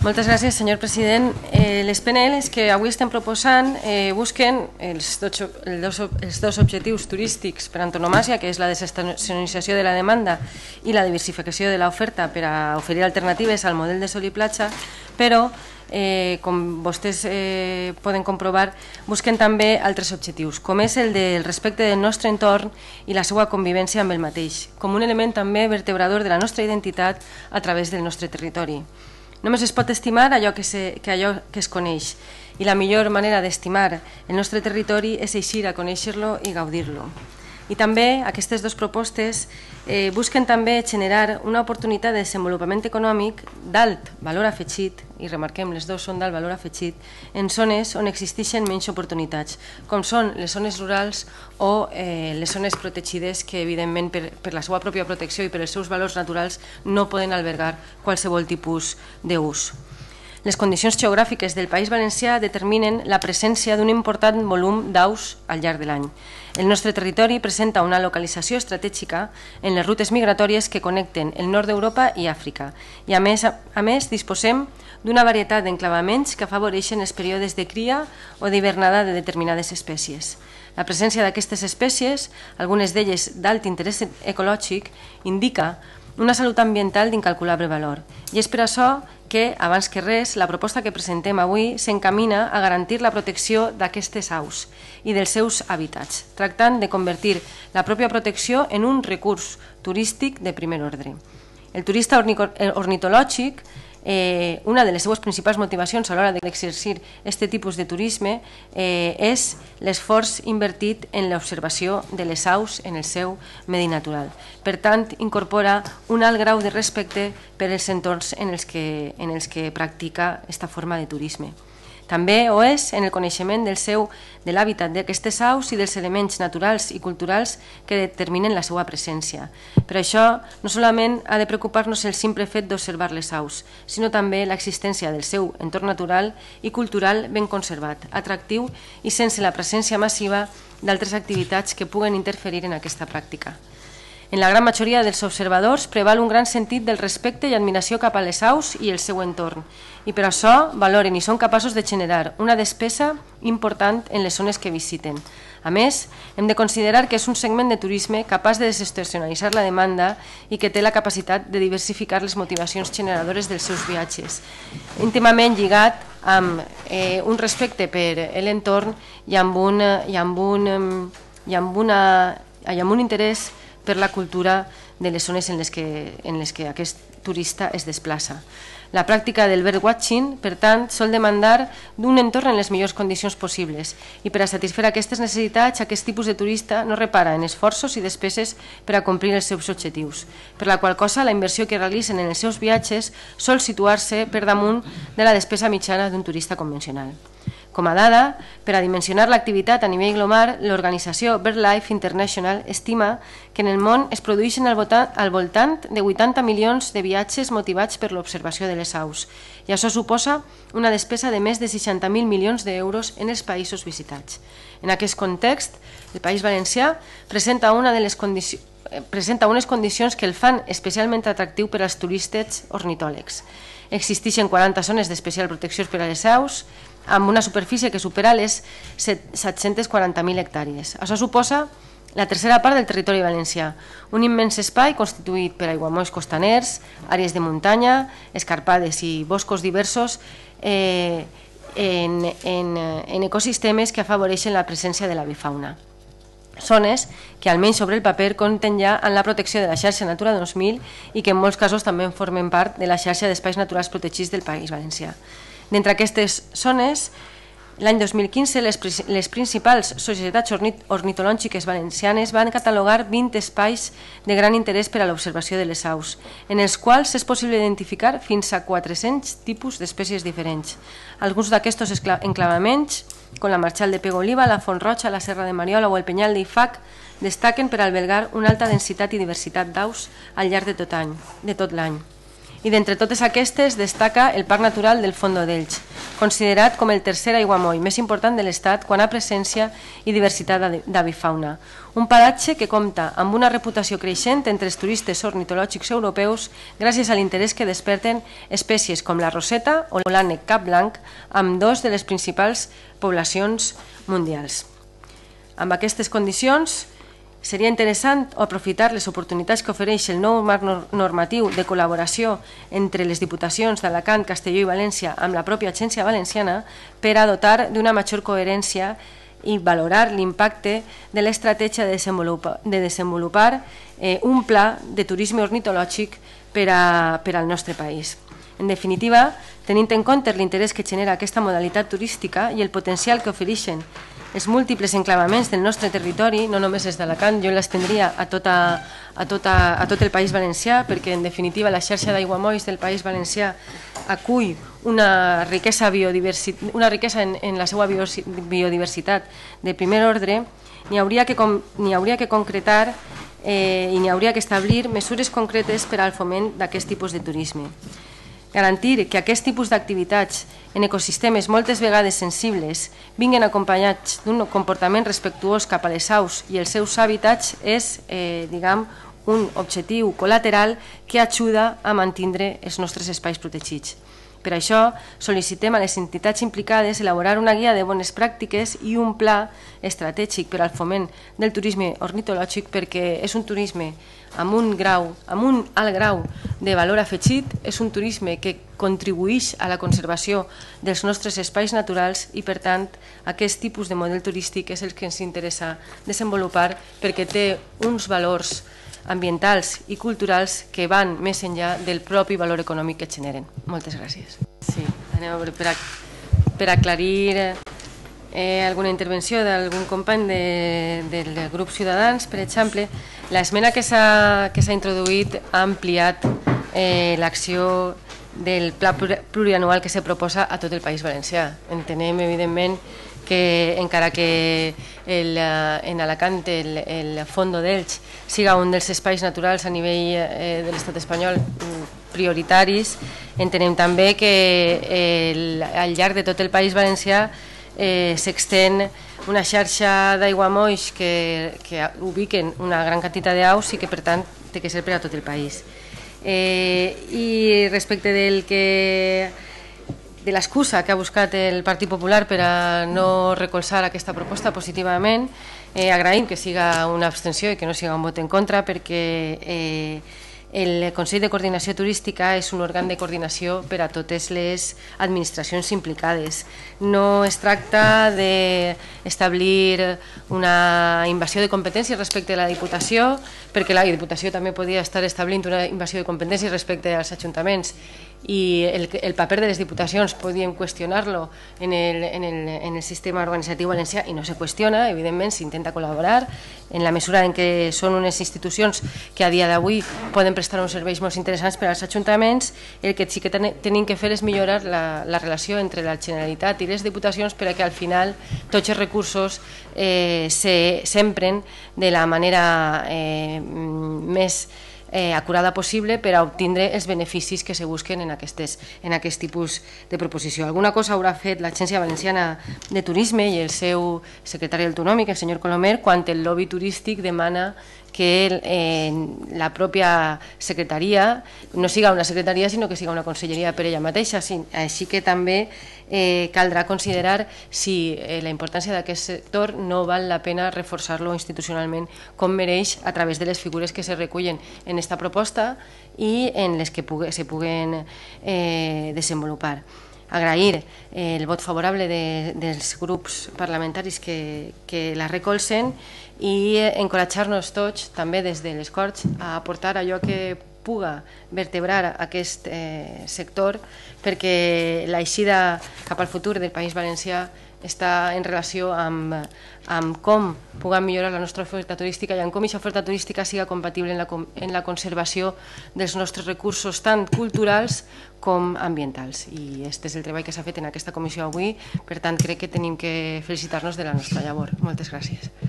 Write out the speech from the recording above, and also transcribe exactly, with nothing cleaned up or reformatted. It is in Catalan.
Moltes gràcies, senyor president. Eh, les P N Ls que avui estem proposant eh, busquen els dos, els, dos, els dos objectius turístics per antonomàsia, que és la desestacionalització de la demanda i la diversificació de l'oferta per a oferir alternatives al model de sol i platja, però, eh, com vostès eh, poden comprovar, busquen també altres objectius, com és el del respecte del nostre entorn i la seva convivència amb el mateix, com un element també vertebrador de la nostra identitat a través del nostre territori. Només es pot estimar allò que, se, que allò que es coneix, i la millor manera d'estimar el nostre territori és eixir a conèixer-lo i gaudir-lo. I també aquestes dues propostes eh, busquen també generar una oportunitat de desenvolupament econòmic d'alt valor afegit, i remarquem, les dues són d'alt valor afegit, en zones on existeixen menys oportunitats, com són les zones rurals o eh, les zones protegides que, evidentment, per, per la seva pròpia protecció i per els seus valors naturals no poden albergar qualsevol tipus d'ús. Les condicions geogràfiques del País Valencià determinen la presència d'un important volum d'aus al llarg de l'any. El nostre territori presenta una localització estratègica en les rutes migratòries que connecten el nord d'Europa i Àfrica, i a més, a més disposem d'una varietat d'enclavaments que afavoreixen els períodes de cria o d'hivernada de determinades espècies. La presència d'aquestes espècies, algunes d'elles d'alt interès ecològic, indica una salut ambiental d'incalculable valor. I és per això que, abans que res, la proposta que presentem avui s'encamina a garantir la protecció d'aquestes aus i dels seus hàbitats, tractant de convertir la pròpia protecció en un recurs turístic de primer ordre. El turista ornitològic, Eh, una de les seues principals motivacions a l'hora d'exercir aquest tipus de turisme eh, és l'esforç invertit en l'observació de les aus en el seu medi natural. Per tant, incorpora un alt grau de respecte per als entorns en els que, en els que practica aquesta forma de turisme. També ho és en el coneixement del seu, de l'hàbitat d'aquestes aus i dels elements naturals i culturals que determinen la seva presència. Per això, no solament ha de preocupar-nos el simple fet d'observar les aus, sinó també l'existència del seu entorn natural i cultural ben conservat, atractiu i sense la presència massiva d'altres activitats que puguen interferir en aquesta pràctica. En la gran majoria dels observadors preval un gran sentit del respecte i admiració cap a les aus i el seu entorn, i per això valoren i són capaços de generar una despesa important en les zones que visiten. A més, hem de considerar que és un segment de turisme capaç de desestacionalitzar la demanda i que té la capacitat de diversificar les motivacions generadores dels seus viatges, íntimament lligat amb eh, un respecte per l'entorn i amb un, i amb un, i amb una, i amb un interès per la cultura de les zones en les que, en les que aquest turista es desplaça. La pràctica del birdwatching, per tant, sol demandar d'un entorn en les millors condicions possibles i per a satisfer aquestes necessitats, aquest tipus de turista no repara en esforços i despeses per a complir els seus objectius, per la qual cosa la inversió que realitzen en els seus viatges sol situar-se per damunt de la despesa mitjana d'un turista convencional. Com a dada, per a dimensionar l'activitat a nivell global, l'organització BirdLife International estima que en el món es produeixen al voltant de vuitanta milions de viatges motivats per l'observació de les aus, i això suposa una despesa de més de seixanta mil milions d'euros en els països visitats. En aquest context, el País Valencià presenta una de les condicions presenta unes condicions que el fan especialment atractiu per als turistes ornitòlegs. Existeixen quaranta zones d'especial protecció per a les aus, amb una superfície que supera les set-centes quaranta mil hectàrees. Això suposa la tercera part del territori valencià, un immens espai constituït per aiguamolls costaners, àrees de muntanya, escarpades i boscos diversos eh, en, en, en ecosistemes que afavoreixen la presència de l'avifauna. Zones que, almenys sobre el paper, compten ja en la protecció de la xarxa Natura dos mil i que en molts casos també formen part de la xarxa d'espais naturals protegits del País Valencià. D'entre aquestes zones, l'any dos mil quinze, les, les principals societats ornitològiques valencianes van catalogar vint espais de gran interès per a l'observació de les aus, en els quals és possible identificar fins a quatre-cents tipus d'espècies diferents. Alguns d'aquests enclavaments, com la Marxal de Pego Oliva, la Font Roja, la Serra de Mariola o el Penyal d'Ifac, destaquen per albergar una alta densitat i diversitat d'aus al llarg de tot any, de tot l'any. I d'entre totes aquestes destaca el Parc Natural del Fondo d'Elx, considerat com el tercer aiguamoll més important de l'Estat quant a presència i diversitat d'avifauna. Un paratge que compta amb una reputació creixent entre els turistes ornitològics europeus gràcies a l'interès que desperten espècies com la roseta o l'ànec cap blanc, amb dos de les principals poblacions mundials. Amb aquestes condicions, seria interessant aprofitar les oportunitats que ofereix el nou marc normatiu de col·laboració entre les diputacions d'Alacant, Castelló i València amb la pròpia Agència Valenciana per a dotar d'una major coherència i valorar l'impacte de l'estratègia de desenvolupar, de desenvolupar eh, un pla de turisme ornitològic per, a, per al nostre país. En definitiva, tenint en compte l'interès que genera aquesta modalitat turística i el potencial que ofereixen els múltiples enclavaments del nostre territori, no només és d'Alacant, jo l'estendria a, tota, a, tota, a tot el País Valencià, perquè en definitiva la xarxa d'aiguamolls del País Valencià acull una riquesa, una riquesa en, en la seva biodiversitat de primer ordre, n'hi hauria que, n'hi hauria que concretar eh, i n'hi hauria que establir mesures concretes per al foment d'aquest tipus de turisme. Garantir que aquest tipus d'activitats en ecosistemes moltes vegades sensibles vinguin acompanyats d'un comportament respectuós cap a les aus i els seus hàbitats és, eh, diguem, un objectiu col·lateral que ajuda a mantenir els nostres espais protegits. Per això, sol·licitem a les entitats implicades elaborar una guia de bones pràctiques i un pla estratègic per al foment del turisme ornitològic, perquè és un turisme amb un grau, amb un alt grau de valor afegit, és un turisme que contribueix a la conservació dels nostres espais naturals i, per tant, aquest tipus de model turístic és el que ens interessa desenvolupar perquè té uns valors ambientals i culturals que van més enllà del propi valor econòmic que generen. Moltes gràcies. Sí, anem a veure, per, a, per aclarir eh, alguna intervenció d'algun company de, del grup Ciutadans, per exemple, l'esmena que s'ha introduït ha ampliat eh, l'acció del pla plurianual que se proposa a tot el País Valencià. Entenem, evidentment, que encara que el, en Alacant el, el Fondo d'Elx siga un dels espais naturals a nivell eh, de l'estat espanyol prioritaris, entenem també que el, al llarg de tot el País Valencià eh, s'extén una xarxa d'aiguamolls que, que ubiquen una gran quantitat d'aus i que per tant té que ser per a tot el país. Eh, I respecte del que de l'excusa que ha buscat el Partit Popular per a no recolzar aquesta proposta positivament, eh, agraïm que siga una abstenció i que no siga un vot en contra, perquè eh, el Consell de Coordinació Turística és un òrgan de coordinació per a totes les administracions implicades. No es tracta d'establir una invasió de competències respecte a la Diputació, perquè la Diputació també podria estar establint una invasió de competències respecte als ajuntaments i el, el paper de les diputacions podíem qüestionar-lo en, el, en, el, en el sistema organitzatiu valencià i no se qüestiona, evidentment s'intenta col·laborar en la mesura en què són unes institucions que a dia d'avui poden prestar uns serveis molt interessants per als ajuntaments. El que sí que tenim que fer és millorar la, la relació entre la Generalitat i les diputacions perquè al final tots els recursos eh, s'empren de la manera eh, més Eh, acurada possible per a obtindre els beneficis que se busquen en, aquestes, en aquest tipus de proposició. Alguna cosa haurà fet l'Agència Valenciana de Turisme i el seu secretari autonòmic, el senyor Colomer, quan el lobby turístic demana que eh, la pròpia secretaria no siga una secretaria sinó que siga una conselleria per ella mateixa. Sí, així que també eh, caldrà considerar si eh, la importància d'aquest sector no val la pena reforçar-lo institucionalment com mereix a través de les figures que se recullen en aquesta proposta i en les que pugui, se puguen eh, desenvolupar. Agrair eh, el vot favorable de, dels grups parlamentaris que, que la recolzen i encoratjar-nos tots, també des de les Corts, a aportar allò que puga vertebrar aquest eh, sector, perquè l'eixida cap al futur del País Valencià està en relació amb, amb com puguem millorar la nostra oferta turística i amb com aquesta oferta turística siga compatible en la, en la conservació dels nostres recursos tant culturals com ambientals. I aquest és el treball que s'ha fet en aquesta comissió avui, per tant crec que tenim que felicitar-nos de la nostra llavor. Moltes gràcies.